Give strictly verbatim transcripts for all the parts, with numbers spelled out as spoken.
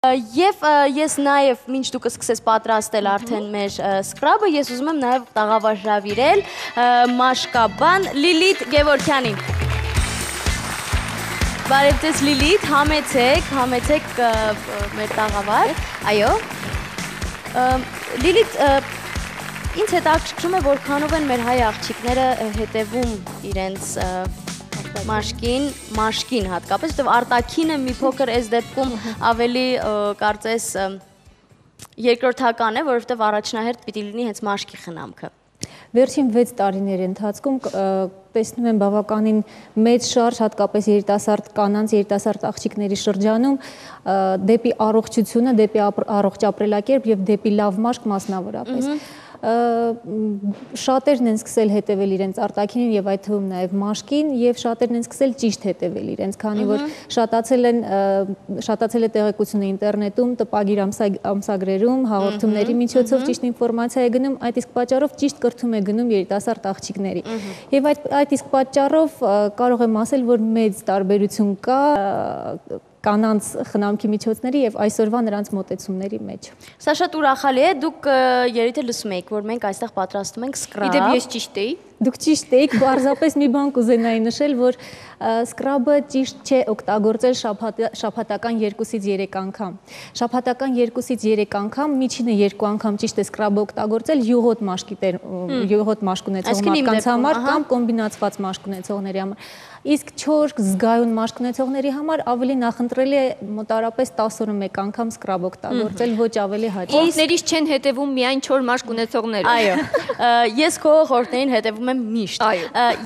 Եվ ես նաև մինչ դուք սկսես պատրաստել արդեն մեր սկրաբը, ես ուզում եմ նաև տաղավարժավիրել մաշկաբան Լիլիթ Գևորգյանին։ Բարև ձեզ Լիլիթ, համեցեք, համեցեք մեր տաղավար, այո։ Լիլիթ, ինձ հետաքրքրում է, որքանով են մեր հայ աղջիկները հետևում իրենց մաշկին, մաշկին հատկապես, որտեվ արտաքինը մի փոքր այս դեպքում ավելի կարծես երկրորդական է, որովհետև առաջնահերթ պիտի լինի հենց մաշկի խնամքը։ Վերջին վեց տարիների ընթացքում տեսնում եմ բավականին մեծ շարժ, հատկապես երիտասարդ կանանց, երիտասարդ աղջիկների շրջանում դեպի առողջությունը, դեպի առողջ ապրելակերպ եւ դեպի լավ մաշկ մասնավորապես։ Շատերն են սկսել հետևել իրենց արտաքինին եւ այդ թվում նաեւ մաշկին եւ շատերն են սկսել ճիշտ հետևել իրենց, քանի որ շատացել են շատացել է տեղեկությունը ինտերնետում, տպագիր ամսագրերում, հաղորդումների միջոցով ճիշտ ինֆորմացիա է գնում, այդ իսկ պատճառով ճիշտ կրթում է գնում երիտասարդ աղջիկների։ Եվ այդ այդ իսկ պատճառով կարող եմ ասել, որ մեծ տարբերություն կա կանանց խնամքի միջոցների եւ այսօրվա նրանց մոտեցումների մեջ։ Սա շատ ուրախալի է, դուք երիտե լսում եք, որ մենք այստեղ պատրաստում ենք սկրաբ։ Իդեպ ես ճիշտ էի։ Դուք ճիշտ եք, պարզապես մի բան կուզենայի նշել, որ սկրաբը ճիշտ չէ օգտագործել շաբաթական երկուսից երեք անգամ։ Շաբաթական երկուսից երեք անգամ, միջինը երկու անգամ ճիշտ է սկրաբը օգտագործել յուղոտ մաշկի յուղոտ մաշկ ունեցող մարդկանց համար կամ կոմբինացված մաշկ ունեցողների համար։ Իսկ չոր զգայուն մաշկ ունեցողների համար ավելի նախընտրելի է մոտարապես տասը օրը մեկ անգամ սկրաբ օգտագործել, ոչ ավելի հաճախ։ Խորհուրդներից չեն հետևում միայն չոր մաշկ ունեցողները։ Այո, ես քո խորհուրդներին հետևում եմ միշտ։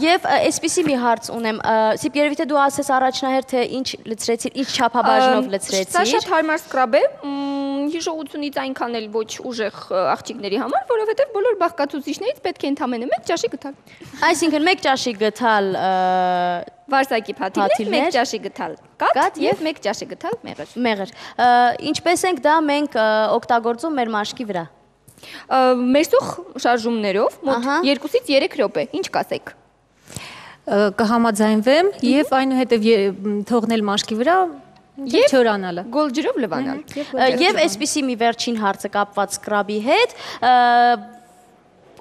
Եվ այսպիսի մի հարց ունեմ, Սիպ երևի թե դու ասես առաջնահերթ թե ինչ լցրեցիր, ինչ չափաբաժնով լցրեցիր։ Սա շատ հարմար սկրաբ է, հիշողությունից այնքան էլ ոչ ուժեղ աղջիկների համար, որովհետև բոլոր բաղկացուցիչներից պետք է ընդամենը մեկ ճաշի գթալ։ Այսինքն մեկ ճաշի գթալ վարսակի փաթիթներ, մեկ ճաշի գթալ կաթ եւ մեկ ճաշի գթալ մեղր։ Մեղր։ Ինչպես ենք դա մենք օգտագործում մեր մաշկի վրա։ Մերսուխ շարժումներով մոտ երկուսից երեք րոպե, ինչ կասեք։ Կհամաձայնվեմ եւ այնուհետեւ թողնել մաշկի վրա եւ չորանալը։ Գոլ ջրով լվանալ։ Եվ այսպիսի մի վերջին հարցը կապված սկրաբի հետ,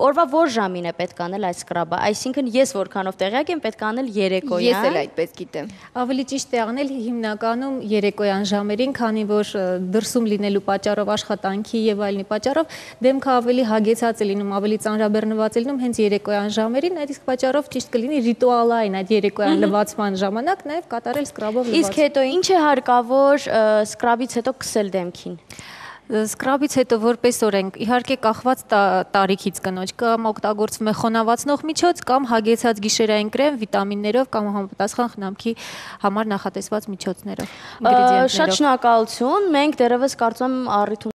օրվա որ ժամին է պետք անել այս սկրաբը, այսինքն ես որքանով տեղյակ եմ պետք անել երեկոյան։ Ես էլ այդպես գիտեմ։ Ավելի ճիշտ է անել հիմնականում երեկոյան ժամերին, քանի որ դրսում լինելու պատճառով աշխատանքի եւ այլնի պատճառով դեմքը ավելի հագեցած է լինում, ավելի ծանրաբեռնված է լինում հենց երեկոյան ժամերին, այդ իսկ պատճառով ճիշտ կլինի ռիտուալային այդ երեկոյան լվացման ժամանակ նաեւ կատարել սկրաբով լվացում։ Իսկ հետո ինչ է հարկավոր սկրաբից հետո քսել դեմքին։ Սկրաբից հետո որպես օրենք, իհարկե կախված տարիքից կնոջ, կամ օգտագործվում է խոնավացնող միջոց, կամ հագեցած գիշերային կրեմ, վիտամիններով կամ համապատասխան խնամքի համար նախատեսված միջոցներով։ Շատ շնորհակալություն, մենք դեռևս կարծում եմ առիթ